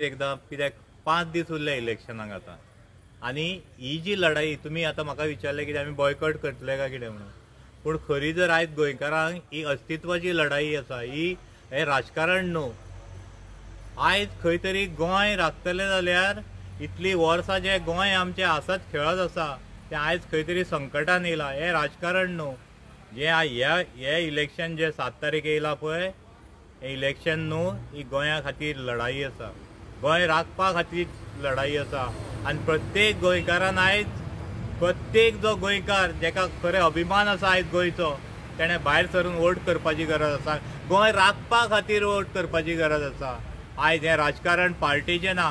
एकदां कित्याक 5 दीस उरले इलेक्शनाक आतां आनी ही जी लढाई तुमी आतां म्हाका विचारलें कितें आमी बॉयकॉट करतले काय कितें म्हणून, पूण खरी जर आयज गोंयकारांक ही अस्तित्वाची लढाई आसा, ही हें राजकारण न्हू. आयज खंय तरी गोंय राखतले जाल्यार इतली वर्सां जें गोंय आमचें आसत खेळत आसा तें आयज खंय तरी संकटान येयलां. हें राजकारण न्हू. जें हें इलेक्शन जें 7 तारीख येयलां पळय, हें इलेक्शन न्हू, ही गोंया खातीर लढाई आसा, गोंय राखपा खातीर लढाई आसा. आनी प्रत्येक गोंयकारान आयज, प्रत्येक जो गोंयकार जेका खरें अभिमान आसा आयज गोंयचो, तेणें भायर सरून वोट करपाची गरज आसा, गोंय राखपा खातीर वोट करपाची गरज आसा. आयज हें राजकारण पार्टीचें ना,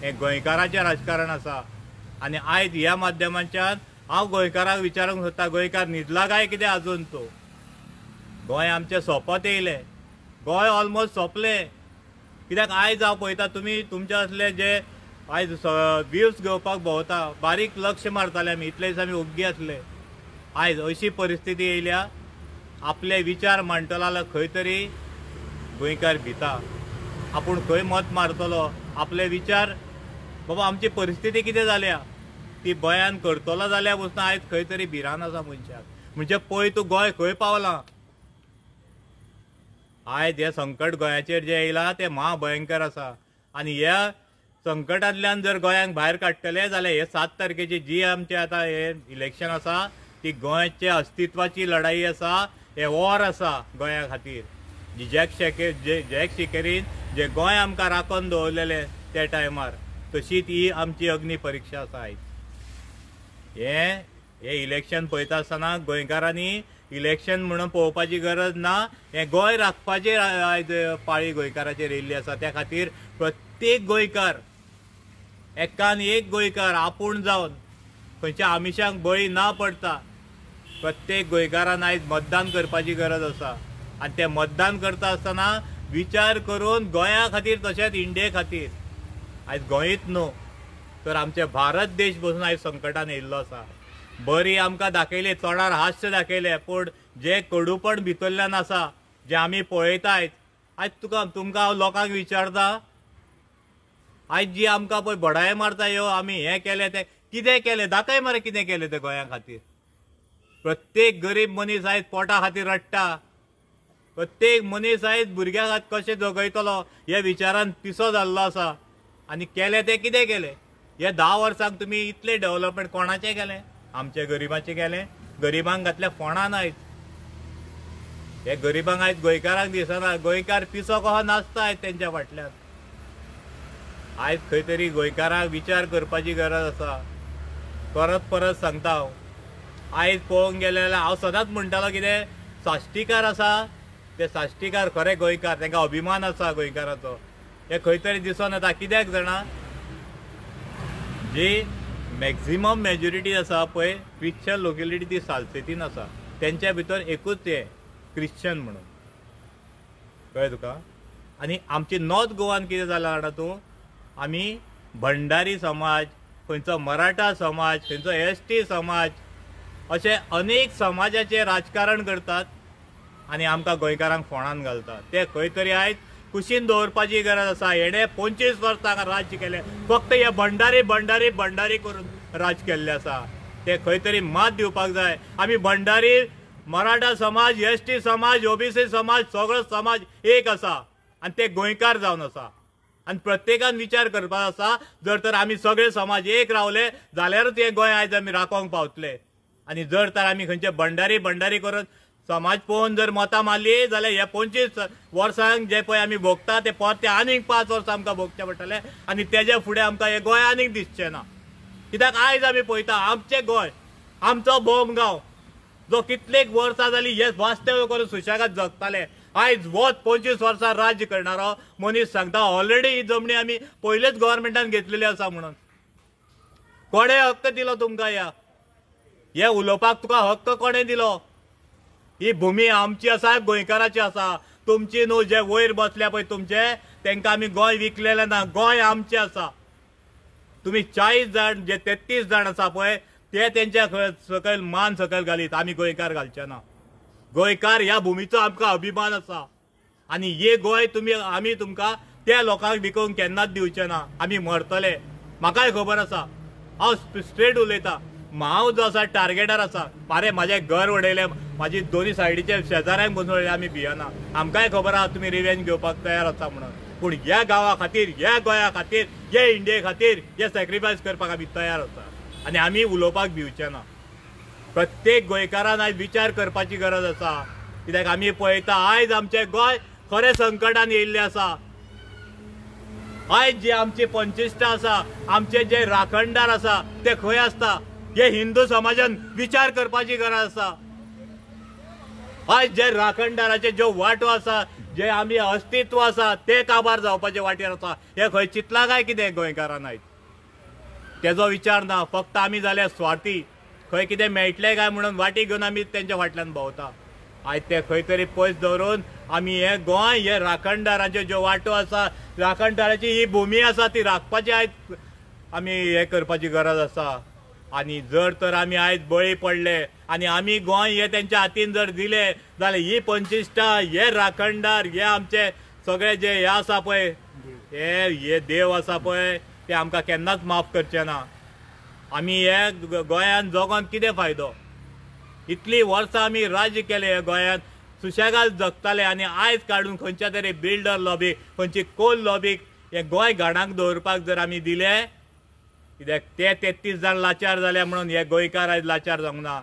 हें गोंयकाराचें राजकारण आसा. आनी आयज ह्या माध्यमांच्यान हांव गोंयकाराक विचारूंक सोदता, गोंयकार न्हिदला काय कितें आजून? तो गोंय आमचें सोंपत येयलें, गोंय ऑलमोस्ट सोंपलें. कित्याक आयज हांव पळयता तुमी तुमचे असले जे आयज व्यूज घेवपाक भोंवता, बारीक लक्ष मारताले आमी, इतले दीस आमी ओग्गी आसले. आयज अशी परिस्थिती येयल्या, आपले विचार मांडटलो जाल्यार खंय तरी गोंयकार भिता, आपूण खंय मत मारतलो, आपले विचार बाबा आमची परिस्थिती कितें जाल्या ती बयान करतलो जाल्यार पसून आयज खंय तरी भिरांत आसा मनशाक. म्हणजे पळय तूं गोंय खंय पावलां. आयज हें संकट गोंयाचेर जें येयलां तें महाभयंकर आसा. आनी ह्या संकटांतल्यान जर गोंयांक भायर काडटले जाल्यार हे 7 तारखेची जी आमचें आतां हें इलेक्शन आसा ती गोंयच्या अस्तित्वाची लढाई आसा, हें वॉर आसा गोंया खातीर. जी जॅक शिकेरीन जे गोंय आमकां राखून दवरलेलें त्या टायमार, तशीच ही आमची अग्नी परिक्षा आसा आयज. हें इलेक्शन पळयता आसतना गोंयकारांनी इलेक्शन म्हणून पळोवपाची गरज ना, हें गोंय राखपाचेर आयज पाळी गोंयकाराचेर येयल्ली आसा. त्या खातीर प्रत्येक गोंयकार, एकान एक गोंयकार आपूण जावन खंयच्या आमिशांक बळी ना पडता प्रत्येक गोंयकारान आयज मतदान करपाची गरज आसा. आनी तें मतदान करता आसतना विचार करून गोंया खातीर तशेंच इंडिये खातीर, आयज गोंयच न्हू तर आमचे भारत देश बसून आयज संकटान येयल्लो आसा. बरी आमकां दाखयली, तोंडार हास्य दाखयलें, पूण जें कडूपण भितरल्यान आसा जें आमी पळयता आयज, आयज तुमकां हांव लोकांक विचारता, आयज जी आमकां पळय बडाय मारता ह्यो आमी हें केलें तें कितें केलें, दाखय मरे कितें केलें तें गोंया खातीर. प्रत्येक गरीब मनीस आयज पोटा खातीर रडटा, प्रत्येक मनीस आयज भुरग्या खातीर कशें जगयतलो ह्या विचारान पिसो जाल्लो आसा. आनी केलें तें कितें केलें? ह्या 10 वर्सांक तुमी इतलें डेवलपमेंट कोणाचें केलें? आमच्या गरिबांचें केलें. गरिबांक घातल्या फोंडान आयज, हे गरिबांक आयज गोंयकारांक दिसना, गोंयकार पिसो कसो नाचता आयज तेंच्या फाटल्यान. आयज खंय तरी गोंयकारांक विचार करपाची गरज आसा. परत परत सांगता हांव, आयज पळोवंक गेलें जाल्यार हांव सदांच म्हणटालो कितें साश्टीकार आसा ते साश्टीकार खरे गोंयकार, तांकां अभिमान आसा गोंयकाराचो. हे खंय तरी दिसून येता. कित्याक जाणा, जी मॅक्झिमम मेजॉरिटी आसा पळय क्रिश्चन लोकेलिटी ती सालसेतीन आसा, तेंच्या भितर एकूच हें क्रिश्चन म्हणून, कळ्ळें तुका. आनी आमची नॉर्थ गोवान कितें जालां जाणा तूं, आमी भंडारी समाज, खंयचो मराठा समाज, खंयचो एस टी समाज, अशे अनेक समाजाचें राजकारण करतात आनी आमकां गोंयकारांक फोंडान घालतात. ते खंय तरी आयज कुशीन दवरपाची गरज आसा. हेणें 25 वर्सां हांगा राज्य केलें, फक्त हे भंडारी भंडारी भंडारी करून राज केल्लें आसा. ते खंय तरी मात दिवपाक जाय. आमी भंडारी, मराठा समाज, एस टी समाज, ओबीसी समाज, सगळो समाज एक आसा आनी ते गोंयकार जावन आसा. आनी प्रत्येकान विचार करपाक आसा, जर तर आमी सगळे समाज एक रावले जाल्यारूच हें गोंय आयज आमी राखोवंक पावतले. आनी जर तर आमी खंयचे भंडारी भंडारी करून समाज पळोवन जर मतां मारली जाल्यार ह्या 25 वर्सांक जे पळय आमी भोगता ते परते आनीक 5 वर्सां आमकां भोगचें पडटलें आनी तेज्या फुडें आमकां हें गोंय आनीक दिसचें ना. कित्याक आयज आमी पळयता आमचें गोंय, आमचो भोम गांव जो कितलेक वर्सां जाली हे वास्तव्य करून सुशेगाद जगताले, आयज वच 25 वर्सां राज्य करणारो मनीस सांगता ऑलरेडी ही जमणी आमी पयलेच गव्हर्मेंटान घेतलेली आसा म्हणून. कोणें हक्क दिलो तुमकां ह्या हे उलोवपाक? तुका हक्क कोणें दिलो? ही भूमी आमची आसा, गोंयकाराची आसा, तुमची न्हू. जे वयर बसल्या पळय तुमचे, तांकां आमी गोंय विकलेलें ना, गोंय आमचें आसा. तुमी 40 जाण जे 33 जाण आसा पळय ते तेंच्या सकयल मान सकयल घालीत, आमी गोंयकार घालचे ना. गोंयकार ह्या भुमीचो आमकां अभिमान आसा आनी हे गोंय तुमी आमी तुमकां त्या लोकांक विकूंक केन्नाच दिवचे ना. आमी मरतले, म्हाकाय खबर आसा. हांव स्ट्रेट उलयता. हांव जो आसा टार्गेटार आसा. अरे म्हाजें घर उडयलें, म्हाजी दोनी सायडीचे शेजाऱ्यांक बसून उडयलें, आमी भियना. आमकांय खबर आसा तुमी रिवेंज घेवपाक तयार आसा म्हणून. पूण ह्या गांवा खातीर, ह्या गोंया खातीर, ह्या इंडिये खातीर हे सॅक्रिफायस करपाक आमी तयार आसा आनी आमी उलोवपाक भिवचे ना. प्रत्येक गोंयकारान आयज विचार करपाची गरज आसा. कित्याक आमी पळयता आयज आमचें गोंय खरें संकटान येयल्लें आसा. आयज जे आमची पंचिश्टा आसा, आमचे जे राखणदार आसा ते खंय आसता हे हिंदू समाजान विचार करपाची गरज आसा. आयज जे राखणदाराचे ज्यो वांटो आसा, जे आमी अस्तित्व आसा ते काबार जावपाचे वाटेर आसा. हे खंय चिंतलां काय कितें गोंयकारान आयज? तेजो विचार ना. फक्त आमी जाल्यार स्वार्थी, खंय कितें मेळटलें काय म्हणून वाटी घेवन आमी तेंच्या फाटल्यान भोंवता. आयज ते खंय तरी पयस दवरून आमी हे गोंय, हे राखणदारांच्यो ज्यो वांटो आसा, राखणदाराची ही भुमी आसा ती राखपाची आयज आमी हे करपाची गरज आसा. आनी जर तर आमी आयज बळी पडले आनी आमी गोंय हे तेंच्या हातीन जर दिले जाल्यार ही पंचिश्टा, हे राखणदार, हे आमचे सगळे जे हे आसा पळय, हे देव आसा पळय, ते आमकां केन्नाच माफ करचे ना. आमी हे गोंयान जगोन कितें फायदो? इतली वर्सां आमी राज्य केलें हे गोंयांत, सुशेगाद जगताले आनी आयज काडून खंयच्या तरी बिल्डर लॉबीक, खंयची कोल लॉबीक हे गोंय घाणाक दवरपाक जर आमी दिले, कित्याक ते 33 जाण लाचार जाले म्हणून हे गोंयकार आयज लाचार जावंक ना.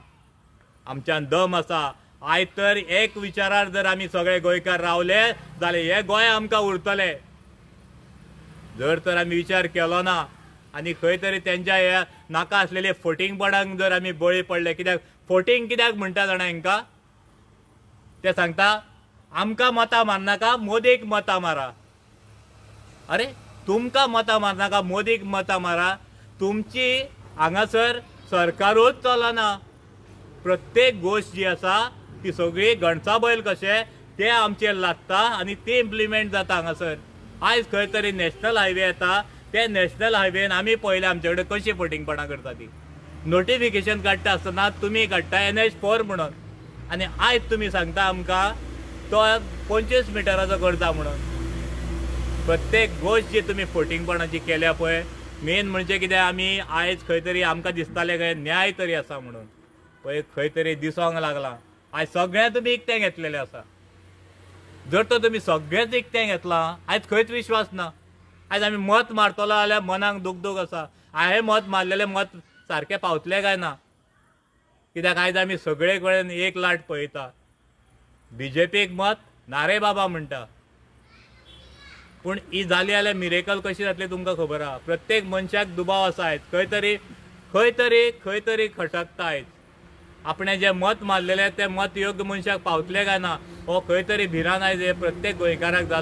आमच्यान दम आसा. आयज तर एक विचारार जर आमी सगळे गोंयकार रावले जाल्यार हे गोंय आमकां उरतले. जर तर आमी विचार केलो ना आनी खंय तरी तेंच्या ह्या नाका आसलेले फटींगपणाक जर आमी बळी पडले, कित्याक फटींग कित्याक म्हणटा जाणा हेंकां? ते सांगता आमकां मतां मारनाका, मोदीक मतां मारा. अरे तुमकां मतां मारनाका, मोदीक मतां मारा. तुमची हांगासर सरकारूच चलना. प्रत्येक गोश्ट जी आसा ती सगळी गणसा बैल कशे ते आमचेर लागता आनी ती इम्प्लिमेंट जाता हांगासर. आयज खंय तरी नॅशनल हायवे येता, ते नॅशनल हायवेन आमी पळयलें आमचे कडेन कशी फटींगपणां करता ती. नोटिफिकेशन काडटा आसतना तुमी काडटा NH4 म्हणून आनी आयज तुमी सांगता आमकां तो 25 मिटराचो करता म्हणून. प्रत्येक गोश्ट जी तुमी फटींगपणाची केल्या पळय, मेन म्हणजे कितें, आमी आयज खंय तरी आमकां दिसतालें खंय न्याय तरी आसा म्हणून, पळय खंय तरी दिसोंक लागलां. आयज सगळें तुमी इकतें घेतलेलें आसा. जर तर तुमी सगळेंच इकतें घेतलां, आयज खंयच विश्वास ना. आयज आमी मत मारतलो जाल्यार मनाक दुखदूख आसा, हांवें मत मारलेलें मत सारकें पावतलें काय ना? कित्याक आयज आमी सगळे कडेन एक लाट पळयता. बीजेपीक मत नारे बाबा म्हणटा, पूण ही जाली जाल्यार मिरेकल कशी जातली तुमकां खबर आहा. प्रत्येक मनशाक दुबाव आसा आयज, खंय तरी खंय तरी खंय तरी खटकता आयज. आपणें जें मत मारलेलें तें मत योग्य मनशाक पावतलें काय ना हो खंय तरी भिरांत आयज हे प्रत्येक गोंयकाराक जाला.